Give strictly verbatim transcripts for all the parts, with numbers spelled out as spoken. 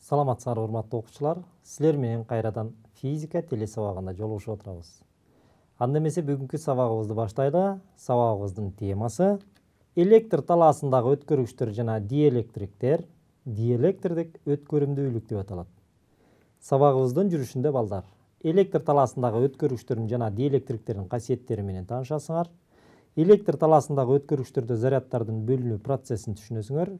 Саламатсыңар урматтуу окуучулар. Силер менен кайрадан физика теле сабагында жолугушуп отурабыз. Анда эмесе бүгүнкү сабагыбызды баштайлы. Сабагыбыздын темасы электр талаасындагы өткөргүчтөр жана диэлектриктер, диэлектрлик өткөрүмдүүлүк деп аталат. Сабагыбыздын жүрүшүндө балдар электр талаасындагы өткөргүчтөрдүн жана диэлектриктердин касиеттери менен таанышасыңар. Электр талаасындагы өткөргүчтөрдө заряддардын бөлүнүү процессин түшүнөсүңөр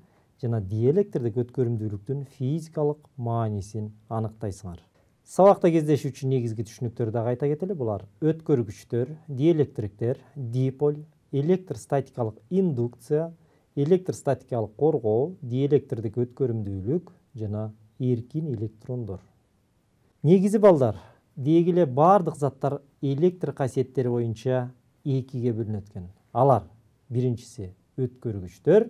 жана диэлектрдик өткөрүмдүүлүктүн физикалык маанисин аныктайсыңар. Сабакта кездешүү үчүн негизги түшүнүктөрдү дагы айта кетели. Булар өткөргүчтөр, диэлектриктер, диполь, электростатикалык индукция, электростатикалык коргоо, диэлектрдик өткөрүмдүүлүк жана эркин электрондор. Негизи балдар, деги эле бардык заттар электр касиеттери боюнча экиге бөлүнөт экен. Алар биринчиси өткөргүчтөр,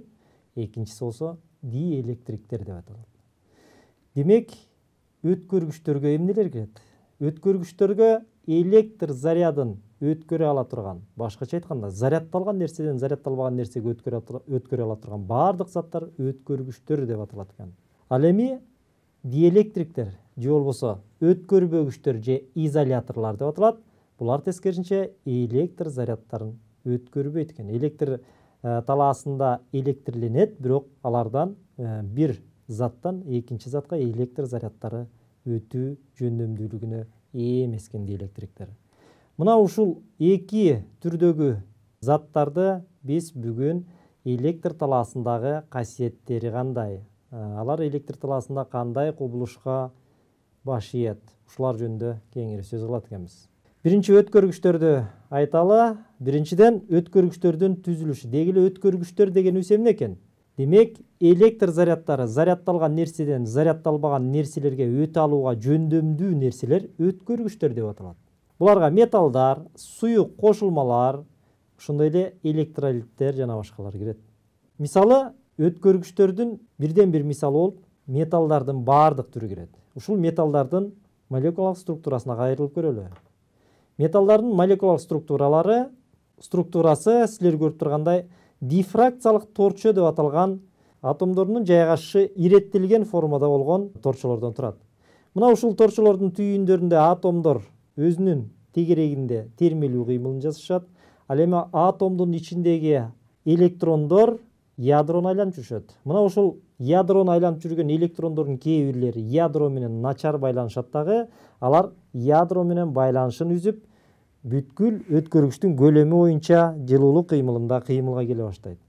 экинчиси болсо диэлектриктер деп аталат. Демек, өткөргүчтөргө эмнелер кирет? Өткөргүчтөргө электр зарядын өткөрө ала турган, башкача айтканда, зарядталган нерседен зарядталбаган нерсеге өткөрө ала турган бардык заттар өткөргүчтөр деп аталат экен. Ал эми диэлектриктер же болбосо өткөрбөгүчтөр же изоляторлор деп аталат. Булар тескерисинче электр заряддарын өткөрбөйт экен. Электр талаасында электрленет, бирок алардан бир заттан экинчи затка электр заряддары өтүү жөндөмдүүлүгүнө ээ эмес экен диэлектриктер. Мына ушул эки түрдөгү заттарды биз бүгүн электр талаасындагы касиеттери кандай, алар электр талаасында кандай кубулушка баш ийет, ушулар жөнүндө кеңири сөз кылат экенбиз. Биринчи өткөргүчтөрдү айталы. Биринчиден өткөргүчтөрдүн түзүлүшү. Деги эле өткөргүчтөр дегенибиз эмне экен? Демек, электр заряддары зарядталган нерседен зарядталбаган нерселерге өтө алууга жөндөмдүү нерселер өткөргүчтөр деп аталат. Буларга металлдар, суюк кошулмалар, ошондой эле электролиттер жана башкалар кирет. Мисалы, өткөргүчтөрдүн бирден бир мисалы болуп, металлдардын бардык түрү кирет. Ушул металлдардын молекулалык структурасына кайрылып көрөлү. Металлдардын молекулалык структуралары, структурасы силер көрүп тургандай дифракциялык торчо деп аталган атомдордун жайгашышы иреттелген формада болгон торчолордон турат. Мына ушул торчолордун түйүндөрүндө атомдор өзүнүн тегерегинде термелүү кыймылын жасашат. Ал эми атомдун ичиндеги электрондор ядрону айланып жүрүшөт. Мына ушул ядрону айланып жүргөн электрондордун кээ бирлери ядро менен начар байланышат дагы. Алар ядро менен байланышын үзүп, бүткүл өткөргүчтүн көлөмү боюнча жылуулук кыймылында кыймылга келе баштайт.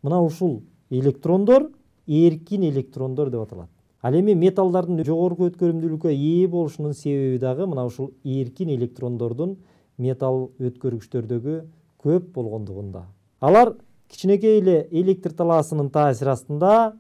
Мына ушул электрондор эркин электрондор деп аталат. Ал эми металлдардын жогорку өткөрүмдүүлүккө ээ болушунун себеби дагы мына ушул эркин электрондордун металл өткөргүчтөрдөгү көп болгондугунда. Алар кичинекей эле электр талаасынын таасири астында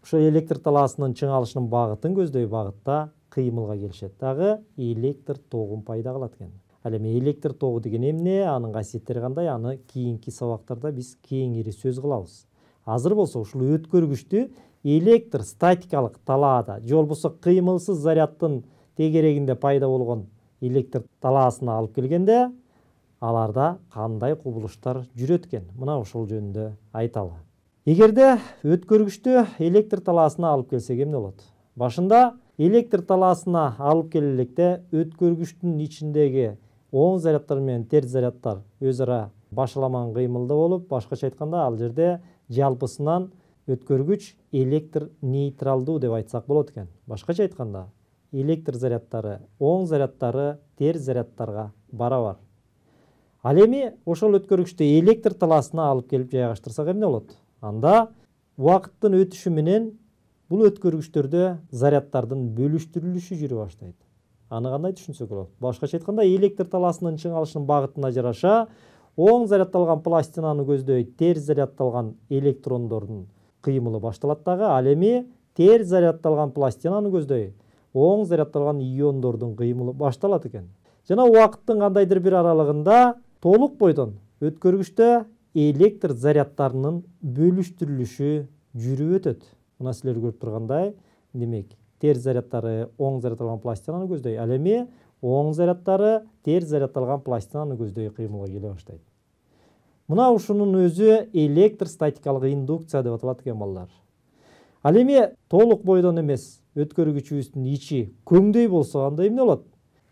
ошо электр талаасынын чыңалышынын багытын көздөй багытта кыймылга келишет, дагы электр тогун пайда кылат экен. Ал эми электр тогу деген эмне, анын касиеттери кандай, аны кийинки сабактарда биз кеңири сөз кылабыз. Азыр болсо ушул өткөргүчтү электр статикалык талаада же болбосо кыймылсыз заряддын тегерегинде пайда болгон электр талаасына алып келгенде, аларда кандай кубулуштар жүрөт экен? Мына ошол жөнүндө айталы. Эгерде өткөргүчтү электр талаасына алып келсек эмне болот? Башында электр талаасына алып келе электе өткөргүчтүн ичиндеги оң заряддар менен терс заряддар өз ара башаламан кыймылда болуп, башкача айтканда ал жерде жалпысынан өткөргүч электр нейтралдуу деп айтсак болот экен. Башкача айтканда, электр заряддары оң заряддары терс заряддарга барабар. Ал эми ошол өткөргүчтү электр талаасына алып келип жайгаштырсак эмне болот? Анда убакыттын өтүшү менен бул өткөргүчтөрдө заряддардын бөлүштүрүлүшү жүрө баштайт. Аны кандай түшүнсөк болот? Башкача айтканда, электр талаасынын чыңалышынын багытына жараша оң зарядталган пластинаны көздөй терс зарядталган электрондордун кыймылы башталат дагы. Ал эми терс зарядталган пластинаны көздөй оң зарядталган иондордун кыймылы башталат экен. Жана убакыттын кандайдыр бир аралыгында толук бойдон өткөргүчтө электр заряддарынын бөлүштүрүлүшү жүрүп өтөт. Мына силер көрүп тургандай, демек, терс заряддары оң зарядталган пластинаны көздөй, ал эми оң заряддары терс зарядталган пластинаны көздөй кыймылга келе баштайт. Мына ушунун өзү электростатикалык индукция деп аталат экен балдар. Ал эми толук бойдон эмес, өткөргүчүбүздүн ичи көңдөй болсо анда эмне болот?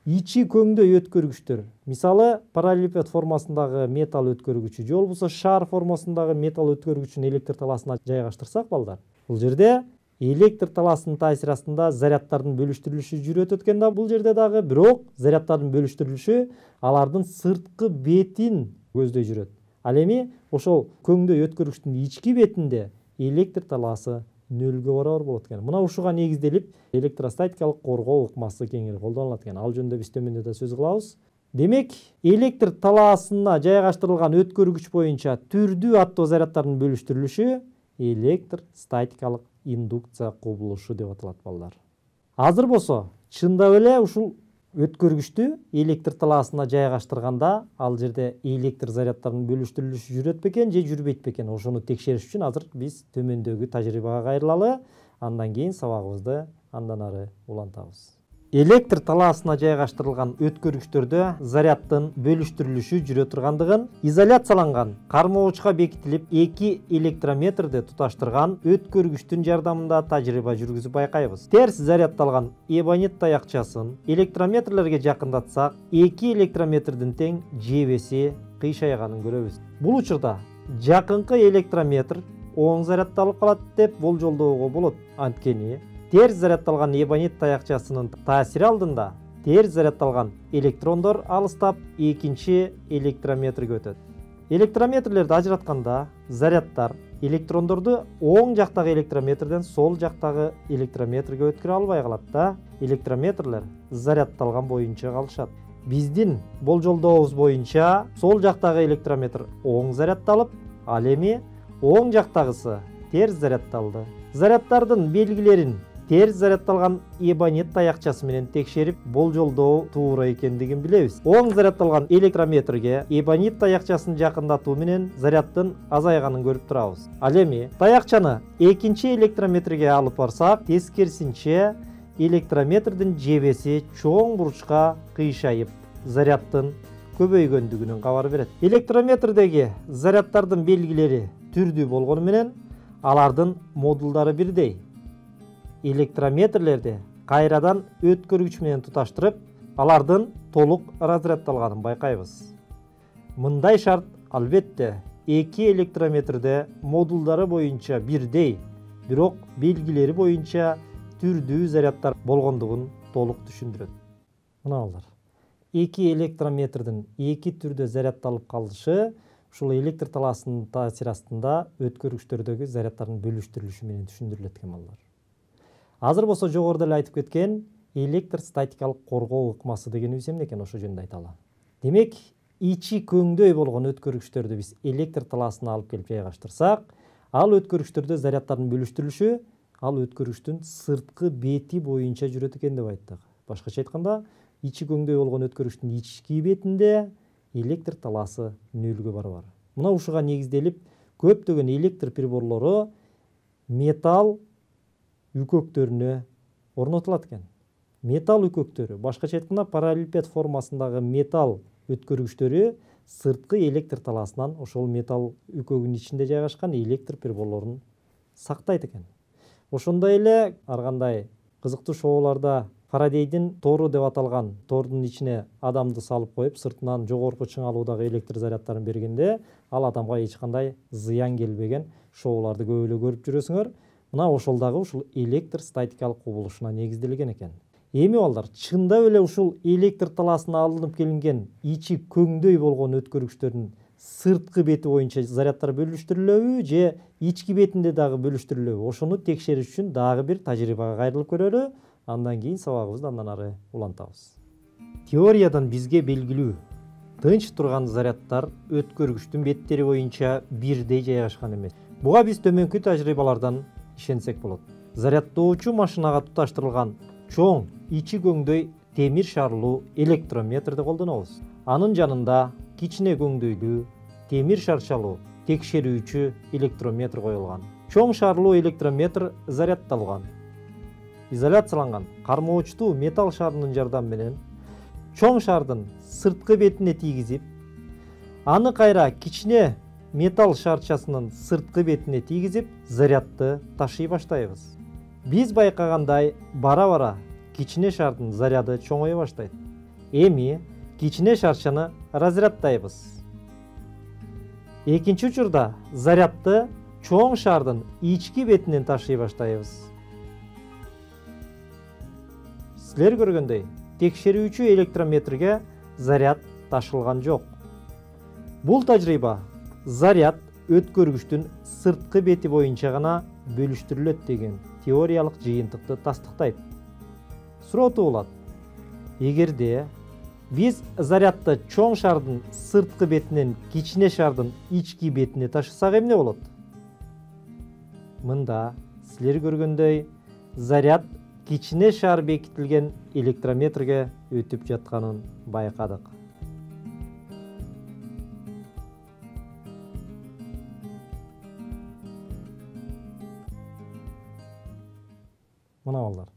Ичи көңдөй өткөргүчтөр. Мисалы, параллелепипед формасындагы металл өткөргүчү же болбосо шар формасындагы металл өткөргүчүн электр талаасына жайгаштырсак балдар, бул жерде электр талаасынын таасири астында заряддардын бөлүштүрүлүшү жүрөт экен да бул жерде дагы, бирок заряддардын бөлүштүрүлүшү алардын сырткы бетин көздөй жүрөт. Ал эми ошол көңдөй өткөргүчтүн ички бетинде электр талаасы нөлгө барабар болот экен. Мына ушуга негизделип электростатикалык коргоо ыкмасы кеңири колдонулат экен. Ал жөнүндө биз төмөндө да сөз кылабыз. Демек, электр талаасына жайгаштырылган өткөргүч боюнча түрдүү аттуу заряддардын бөлүштүрүлүшү электр статикалык индукция кубулушу деп аталат балдар. Азыр болсо чындап эле ушул өткөргүчтү электр талаасына жайгаштырганда ал жерде электр заряддардын бөлүштүрүлүшү жүрөт бекен же жүрбөйт бекен? Ошону текшериш үчүн азыр биз төмөндөгү тажрыйбага кайрылалы, андан кийин сабагыбызды андан ары улантабыз. Электр талаасына жайгаштырылган өткөргүчтөрдө заряддын бөлүштүрүлүшү жүрө тургандыгын изоляцияланган кармоочка бекитилип эки электрометрди туташтырган өткөргүчтүн жардамында тажрыйба жүргүзүп байкайбыз. Терс заряддалган эбонит таякчасын электрометрлерге жакындатсак, эки электрометрдин тең жебеси кыйшайганын көрөбүз. Бул учурда жакынкы электрометр оң заряддалып калат деп болжолдоого болот. Анткени терс заряддалган эбонит таякчасынын таасири алдында терс заряддалган электрондор алыстап экинчи электрометрге өтөт. Электрометрлерди ажыратканда заряддар электрондорду оң жактагы электрометрден сол жактагы электрометрге өткөрө албай калат да, электрометрлер заряддалган боюнча калышат. Биздин болжолдообуз боюнча сол жактагы электрометр оң заряддалып, ал эми оң жактагысы терс заряддалды. Заряддардын белгилерин терс заряддалган эбонит таякчасы менен текшерип болжолдоо туура экендигин билебиз. Оң заряддалган электрометрге эбонит таякчасын жакындатуу менен заряддын азайганын көрүп турабыз. Ал эми таякчаны экинчи электрометрге алып барсак, тескерисинче электрометрдин жебеси чоң бурчка кыйшайып, заряддын көбөйгөндүгүнөн кабар берет. Электрометрдеги заряддардын белгилери түрдүү болгону менен алардын модулдары бирдей. Электрометрлерди кайрадан өткөргүч менен туташтырып, алардын толук разряддалганын байкайбыз. Мындай шарт албетте эки электрометрде модулдары боюнча бирдей, бирок белгилери боюнча түрдүү заряддар болгондугун толук түшүндүрөт. Мына балдар, эки электрометрдин эки түрдө заряддалып калышы ушул электр талаасынын таасири астында өткөргүчтөрдөгү заряддардын бөлүштүрүлүшү менен түшүндүрүлөт экен балдар. Азыр болсо жогоруда эле айтып кеткен электр статикалык коргоо ыкмасы дегенибиз эмне экен, ошол жөнүндө айталы. Демек, ичи көңдөй болгон өткөргүчтөрдү биз электр талаасына алып келип жайгаштырсак, ал өткөргүчтөрдө заряддардын бөлүштүрүлүшү ал өткөргүчтүн сырткы бети боюнча жүрөт экен деп айттык. Башкача айтканда, ичи көңдөй болгон өткөргүчтүн ички бетинде электр талаасы нөлгө барабар. Мына ушуга негизделип көптөгөн электр приборлору металл үкөктөрүнө орнотулат экен. Металл үкөктөрү, башкача айтканда параллелепипед формасындагы металл өткөргүчтөрү сырткы электр талаасынан ошол металл үкөгүнүн ичинде жайгашкан электр приборлорун сактайт экен. Ошондой эле ар кандай кызыктуу шоуларда Фарадейдин тору деп аталган тордун ичине адамды салып коюп, сыртынан жогорку чыңалуудагы электр заряддарын бергенде, ал адамга эч кандай зыян келбеген шоуларды көп эле көрүп жүрөсүңөр. Мына ошол дагы ушул электр статикалык кубулушуна негизделген экен. Эми балдар, чындап эле ушул электр талаасына алынып келинген ичи көңдөй болгон өткөргүчтөрдүн сырткы бети боюнча заряддар бөлүштүрүлөбү же ички бетинде дагы бөлүштүрүлөбү? Ошону текшериш үчүн дагы бир тажрыйбага кайрылып көрөлү. Андан кийин сабагыбызды андан ары улантабыз. Теориядан бизге белгилүү, тынч турган заряддар өткөргүчтүн беттери боюнча бирдей жайгашкан эмес. Буга биз төмөнкү тажрыйбалардан ишенсек болот. Заряддоочу машинага туташтырылган чоң ичи көңдөй темир шарлуу электрометрди колдонобуз. Анын жанында кичине көңдөйлүү темир шарчалуу текшерүүчү электрометр коюлган. Чоң шарлуу электрометр заряддалган. Изоляцияланган кармоочтуу металл шарынын жардамы менен чоң шардын сырткы бетине тийгизип, аны кайра кичине металл шарчасынын сырткы бетине тийгизип, зарядды ташый баштайбыз. Биз байкагандай бара-бара кичине шардын заряды чоңое баштайт. Эми кичине шарчаны разряддайбыз. Экинчи учурда зарядды чоң шардын ички бетинен ташый баштайбыз. Силер көргөндөй, текшерүүчү электрометрге заряд ташылган жок. Бул тажрыйба заряд өткөргүчтүн сырткы бети боюнча гана бөлүштүрүлөт деген теориялык жыйынтыкты тастыктайт. Суроо туулат. Эгерде биз зарядды чоң шардын сырткы бетинен кичине шардын ички бетине ташысак эмне болот? Мында силер көргөндөй заряд кичине шар бекитилген электрометрге өтүп жатканын байкадык. Мына балдар,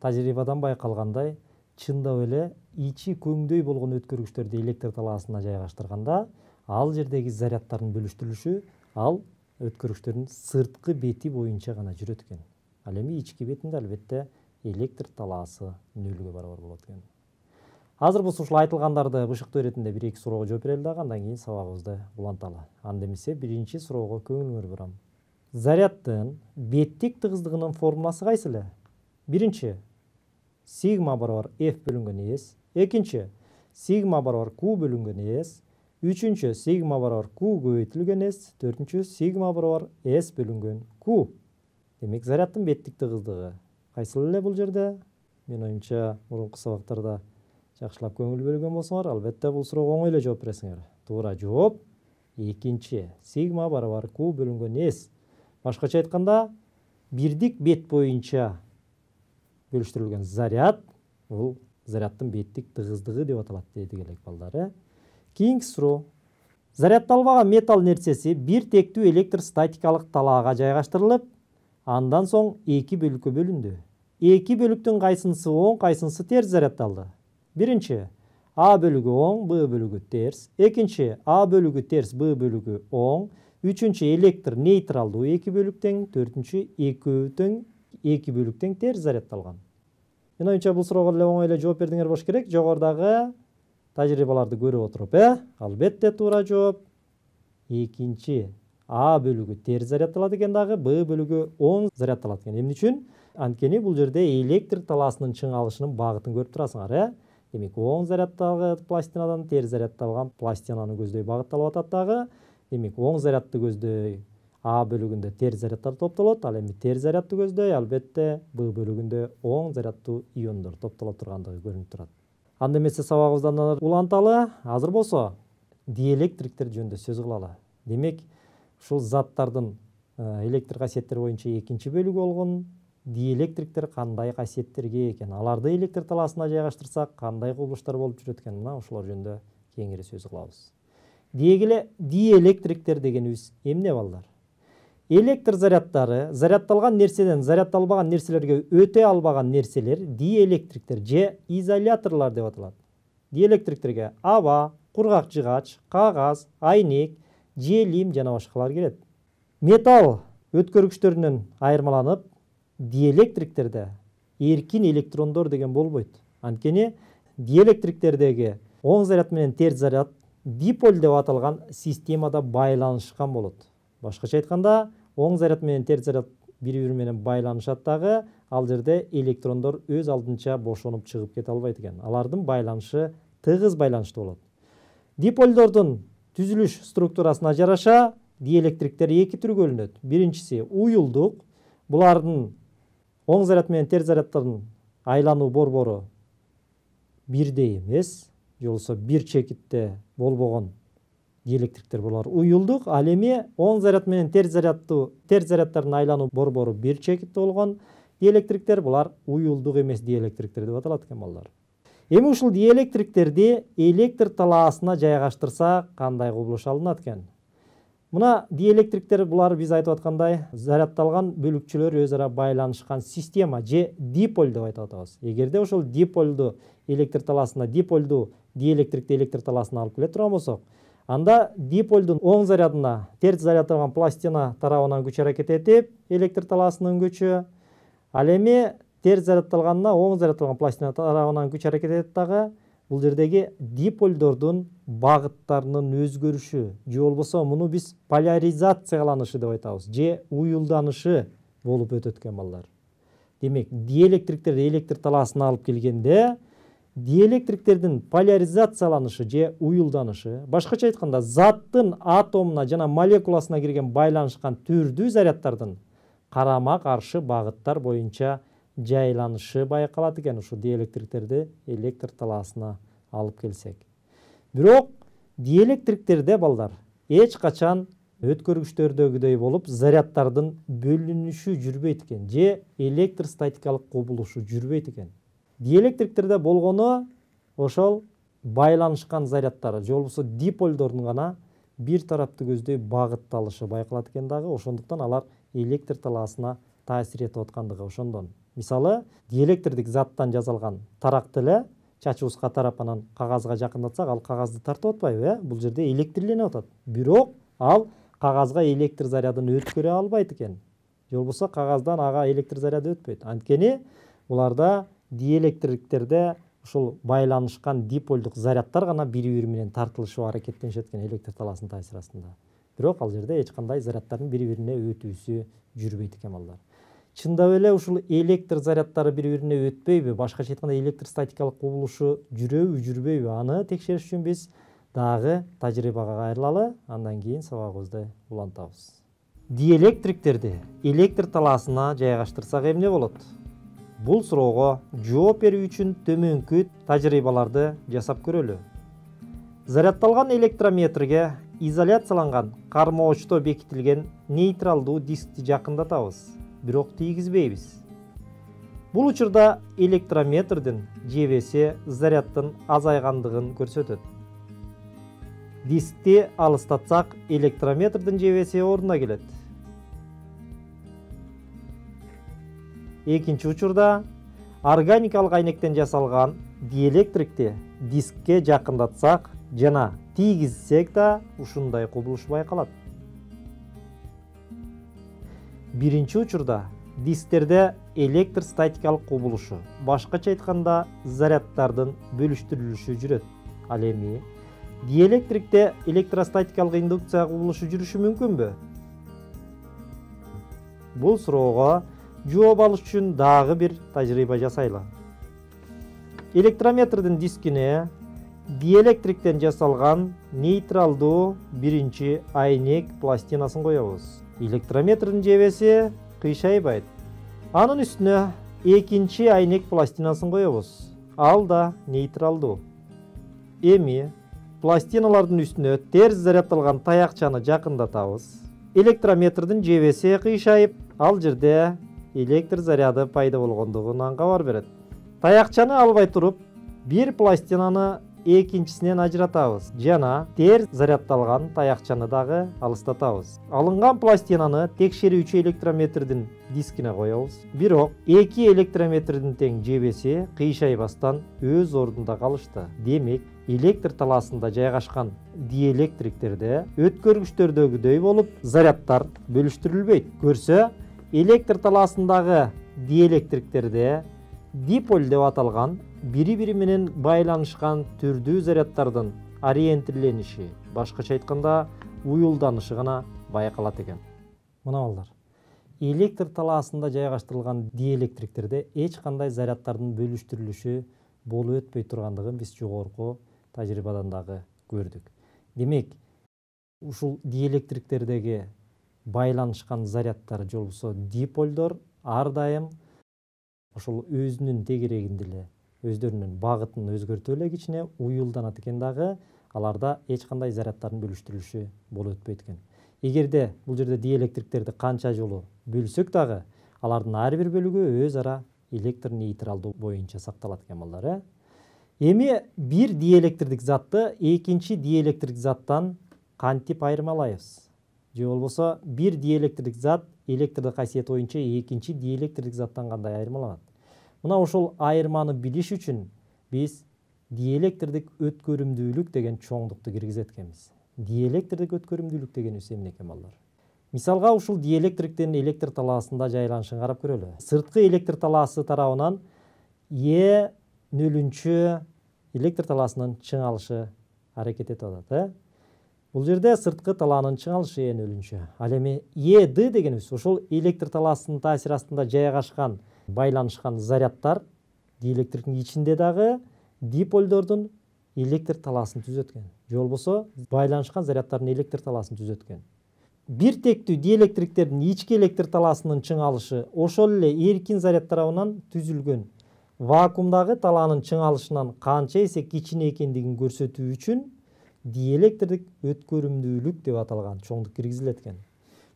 тажрыйбадан байкалгандай, чындап эле ичи көңдөй болгон өткөргүчтөрдү электр талаасына жайгаштырганда, ал жердеги заряддардын бөлүштүрүлүшү ал өткөргүчтөрдүн сырткы бети боюнча гана жүрөт экен. Ал эми ички бетинде албетте электр талаасы нөлгө барабар болот экен. Азыр бул ушул айтылгандарды бышыктоо иретинде бир эки суроого жооп берели дагы, андан кийин сабагыбызды уланталы. Анда эмесе биринчи суроого көңүлүңөр бурам. Заряддын беттик тыгыздыгынын формуласы кайсы эле? Биринчи сигма барабар F бөлүнгөн S, экинчи сигма барабар Q бөлүнгөн S, үчүнчү сигма барабар Q көбөйтүлгөн S, төртүнчү сигма барабар S бөлүнгөн Q. Демек заряддын беттик тыгыздыгы кайсыл эле бул жерде? Мен оюмча мурунку сабактарда жакшылап көңүл бөлгөн болсоңор, албетте бул суроого оңой эле жооп бересиңер. Туура жооп экинчи сигма барабар Q бөлүнгөн S. Башкача айтканда, бирдик бет боюнча бөлүштүрүлгөн заряд бул заряддын беттик тыгыздыгы деп аталат дедик элек балдар. Кийинки суроо. Заряддалбаган металл нерсеси бир тектүү электростатикалык талаага жайгаштырылып, андан соң эки бөлүккө бөлүндү. Эки бөлүктүн кайсынысы оң, кайсынысы терс заряддалды? Биринчи А бөлүгү оң, Б бөлүгү терс. Экинчи А бөлүгү терс, Б бөлүгү оң. Үчүнчү электр нейтралдуу эки бөлүктен, төртүнчү экөө тең эки бөлүктен терс заряддалган. Мен оюмча бул суроого эле оңой эле жооп бердиңер болуш керек. Жогорудагы тажрыйбаларды көрүп отуруп, э? Албетте туура жооп экинчи А бөлүгү терс заряддалат экен дагы, Б бөлүгү оң заряддалат экен. Эмне үчүн? Анткени бул жерде электр талаасынын чыңалышынын багытын көрүп турасыңар, э? Демек, оң заряддалган пластинадан терс заряддалган пластинаны көздөй багытталып атат дагы. Демек, оң зарядды көздөй А бөлүгүндө терс заряддар топтолот, ал эми терс зарядды көздөй албетте Б бөлүгүндө оң заряддуу иондор топтоло тургандыгы көрүнүп турат. Анда эмесе сабагыбыздан уланталы. Азыр болсо диэлектриктер жөнүндө сөз кылалы. Демек, ушул заттардын электр касиеттери боюнча экинчи бөлүгү болгон диэлектриктер кандай касиеттерге ээ экен? Аларды электр талаасына жайгаштырсак, кандай кубулуштар болуп жүрөт экен? Мына ушулар жөнүндө кеңири сөз кылабыз. Деги эле диэлектриктер дегенибиз эмне балдар? Электр заряддары заряддалган нерседен заряддалбаган нерселерге өтө албаган нерселер диэлектриктер же изоляторлор деп аталат. Диэлектриктерге аба, кургак жыгач, кагаз, айнек, желим жана башкалар кирет. Металл өткөргүчтөрүнөн айырмаланып, диэлектриктерде эркин электрондор деген болбойт. Анткени диэлектриктердеги оң заряд менен терс заряд диполь деп аталган системада байланышкан болот. Башкача айтканда, оң заряд менен терс заряд бири-бири менен байланышат дагы, ал жерде электрондор өз алдынча бошонуп чыгып кете албайт экен. Алардын байланышы тыгыз байланышта болот. Дипольдордун түзүлүш структурасына жараша диэлектриктер эки түргө бөлүнөт. Биринчиси уюлдук. Булардын оң заряд менен терс заряддардын айлануу борбору бирдей эмес, же болбосо бир чекитте болбогон диэлектриктер булар уюлдук. Ал эми оң заряд менен терс заряддуу терс заряддардын айлануу борбору бир чекитте болгон диэлектриктер булар уюлдук эмес диэлектриктер деп аталат экен балдар. Эми ушул диэлектриктерди электр талаасына жайгаштырса кандай кубулуш алынат экен? Мына диэлектриктер булар биз айтып аткандай заряддалган бөлүкчөлөр өз ара байланышкан система же диполь деп айтып атабыз. Эгерде ошол диполду электр талаасына диполду диэлектрикти электр талаасына алып келе турган болсок, анда диполдун оң зарядына терс заряддалган пластина тарабынан күч аракет этип электр талаасынын күчү, Ал эми терс зарядталганына оң зарядталган пластина тарабынан күч аракет этет дагы. Бул жердеги диполдордун багыттарынын өзгөрүшү же болбосо муну биз поляризацияланышы деп айтабыз, же уюлданышы болуп өтөт экен балдар. Демек, диэлектриктер электр талаасына алып келгенде, диэлектриктердин поляризацияланышы же уюлданышы, башкача айтканда, заттын атомуна жана молекуласына кирген байланышкан түрдүү заряддардын карама каршы багыттар боюнча жайланышы байкалат экен ушу диэлектриктерди электр талаасына алып келсек. Бирок диэлектриктерде балдар эч качан өткөргүчтөрдөгүдөй болуп заряддардын бөлүнүшү жүрбөйт экен, же электростатикалык кубулушу жүрбөйт экен. Диэлектриктерде болгону ошол байланышкан заряддар же болбосо диполдордун гана бир тарапты көздөй багытталышы байкалат экен дагы, ошондуктан алар электр талаасына таасир этип аткандыгы ошондон. Мисалы, диэлектрдик заттан жасалган таракты эле чачыбызга тарап анан кагазга жакындатсак, ал кагазды тартып атпайбы, э? Бул жерде электриленип атат. Бирок ал кагазга электр зарядын өткөрө албайт экен. Же болбосо кагаздан ага электр заряды өтпөйт. Анткени буларда диэлектриктерде ушул байланышкан диполдук заряддар гана бири-бири менен тартылышып аракеттенишет экен электр талаасынын таасири астында. Бирок ал жерде эч кандай заряддардын бири-бирине өтүүсү жүрбөйт экен балдар. Чындап эле ушул электр заряддары бири-бирине өтпөйбү, башкача айтканда электростатикалык кубулушу жүрөбү, жүрбөйбү? Аны текшериш үчүн биз дагы тажрыйбага кайрылалы, андан кийин сабагыбызды улантабыз. Диэлектриктерди электр талаасына жайгаштырсак эмне болот? Бул суроого жооп берүү үчүн төмөнкү тажрыйбаларды жасап көрөлү. Зарядталган электрометрге изоляцияланган кармоочто бекитилген нейтралдуу дискти жакындатабыз, бирок тийгизбейбиз. Бул учурда электрометрдин жебеси заряддын азайгандыгын көрсөтөт. Дискти алыстатсак, электрометрдин жебеси ордуна келет. Экинчи учурда органикалык айнектен жасалган диэлектрикти дискке жакындатсак жана тийгизсек да ушундай кубулуш байкалат. Биринчи учурда дисктерде электростатикалык кубулушу, башкача айтканда заряддардын бөлүштүрүлүшү жүрөт. Ал эми диэлектрикте электростатикалык индукция кубулушу жүрүшү мүмкүнбү? Бул суроого жооп алыш үчүн дагы бир тажрыйба жасайлы. Электрометрдин дискине диэлектриктен жасалган нейтралдуу биринчи айнек пластинасын коебуз. Электрометрдин жебеси кыйшайбайт. Анын үстүнө экинчи айнек пластинасын коебуз. Ал да нейтралдуу. Эми пластиналардын үстүнө терс зарядталган таякчаны жакындатабыз. Электрометрдин жебеси кыйшайып, ал жерде электр заряды пайда болгондугунан кабар берет. Таякчаны албай туруп, бир пластинаны экинчисинен ажыратабыз жана терс зарядталган таякчаны дагы алыстатабыз. Алынган пластинаны текшерүүчү электрометрдин дискине коебуз. Бирок эки электрометрдин тең жебеси кыйшайбастан өз ордунда калышты. Демек, электр талаасында жайгашкан диэлектриктерде өткөргүчтөрдөгүдөй болуп заряддар бөлүштүрүлбөйт. Көрсө, электр талаасындагы диэлектриктерде диполь деп аталган бири-бири менен байланышкан түрдүү заряддардын ориентирлениши, башкача айтканда уюлданышы гана байкалат экен. Мына балдар, электр талаасында жайгаштырылган диэлектриктерде эч кандай заряддардын бөлүштүрүлүшү болуп өтпөй тургандыгын биз жогорку тажрыйбадан дагы көрдүк. Демек, ушул диэлектриктердеги байланышкан заряддар же болбосо диполдор ар дайым ошол өзүнүн тегерегинде эле өздөрүнүн багытын өзгөртүп эле кичине уюлданат экен дагы, аларда эч кандай заряддардын бөлүштүрүлүшү болуп өтпөйт экен. Эгерде бул жерде диэлектриктерди канча жолу бөлсөк дагы, алардын ар бир бөлүгү өз ара электр нейтралдуу боюнча сакталат экен балдар, э? Эми бир диэлектрдик затты экинчи диэлектрдик заттан кантип айырмалайбыз? Же болбосо бир диэлектрдик зат электрдик касиети боюнча экинчи диэлектрдик заттан кандай айырмаланат? Мына ошол айырманы билиш үчүн биз диэлектрдик өткөрүмдүүлүк деген чоңдукту киргизет экенбиз. Диэлектрдик өткөрүмдүүлүк дегенибиз эмне экен балдар? Мисалга ушул диэлектриктин электр талаасында жайланышын карап көрөлү. Сырткы электр талаасы тарабынан Е нөлүнчү электр талаасынын чыңалышы аракет этип атат. Бул жерде сырткы талаанын чыңалышы Е нөлүнчү. Ал эми Е Д дегенибиз ошол электр талаасынын таасири астында жайгашкан, байланышкан заряддар диэлектриктин ичинде дагы диполдордун электр талаасын түзөт экен. Же болбосо байланышкан заряддардын электр талаасын түзөт экен. Бир тектүү диэлектриктердин ички электр талаасынын чыңалышы ошол эле эркин заряд тарабынан түзүлгөн вакуумдагы талаанын чыңалышынан канча эсе кичине экендигин көрсөтүү үчүн диэлектрдик өткөрүмдүүлүк деп аталган чоңдук киргизилет экен.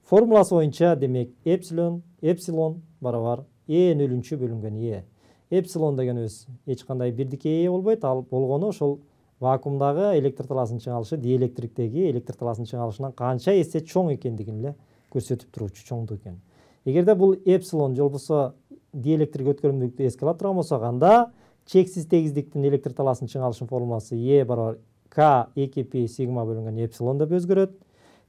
Формуласы боюнча демек эпсилон эпсилон барабар Е нөлүнчү бөлүнгөн Е. Эпсилон дегенибиз эч кандай бирдикке ээ болбойт, ал болгону ошол вакуумдагы электр талаасынын чыңалышы диэлектриктеги электр талаасынын чыңалышынан канча эсе чоң экендигин эле көрсөтүп туручу чоңдук экен. Эгерде бул эпсилон же болбосо диэлектрик өткөрүмдүүлүктү эске алып турган болсок, анда чексиз тегиздиктин электр талаасынын чыңалышынын формуласы Е барабар К эки пи сигма бөлүнгөн эпсилон деп өзгөрөт.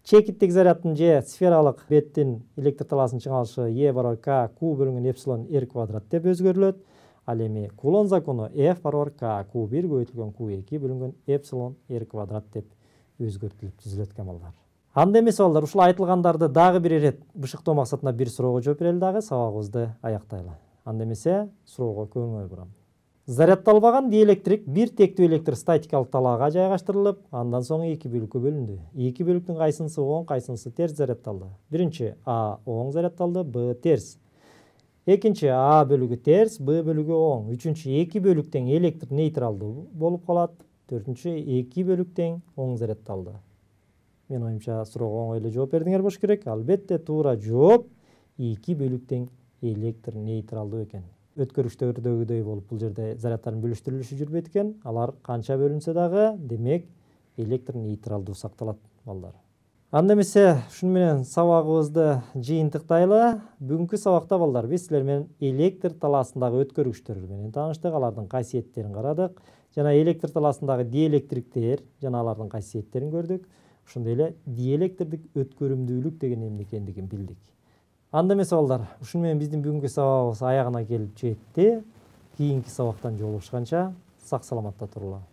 Чекиттик заряддын же сфералык беттин электр талаасынын чыңалышы Е барабар К Q бөлүнгөн эпсилон R квадрат деп өзгөрүлөт. Ал эми Кулон закону F барабар К Q бир көбөйтүлгөн Q эки бөлүнгөн эпсилон R квадрат деп өзгөртүлүп түзүлөт экен балдар. Анда эмес балдар, ушул айтылгандарды дагы бир ирет бышыктоо максатында бир суроого жооп берели дагы сабагыбызды аяктайлы. Анда эмесе суроого көңүл бурам. Зарядталбаган диэлектрик бир тектүү электр статикалык талаага жайгаштырылып, андан соң эки бөлүккө бөлүндү. Эки бөлүктүн кайсынысы оң, кайсынысы терс зарядталды? Биринчи А оң зарядталды, Б терс. Экинчи А бөлүгү терс, Б бөлүгү оң. Үчүнчү эки бөлүк тең электр нейтралдуу болуп калат. Төртүнчү эки бөлүк тең оң зарядталды. Мен оюмча суроого оңой эле жооп бердиңер болуш керек. Албетте туура жооп эки бөлүк тең электр нейтралдуу экен. Өткөрүштөрдөгүдөй болуп бул жерде заряддардын бөлүштүрүлүшү жүрбөйт экен. Алар канча бөлүнсө дагы демек электр нейтралдуу сакталат балдар. Анда эмесе ушуну менен сабагыбызды жыйынтыктайлы. Бүгүнкү сабакта балдар биз силер менен электр талаасындагы өткөргүчтөр менен тааныштык, алардын касиеттерин карадык. Жана электр талаасындагы диэлектриктер жана алардын касиеттерин көрдүк. Ошондой эле диэлектрдик өткөрүмдүүлүк деген эмне экендигин билдик. Анда эмесе балдар, ушуну менен биздин бүгүнкү сабагыбыз аягына келип жетти. Кийинки сабактан жолугушканча сак саламатта турула.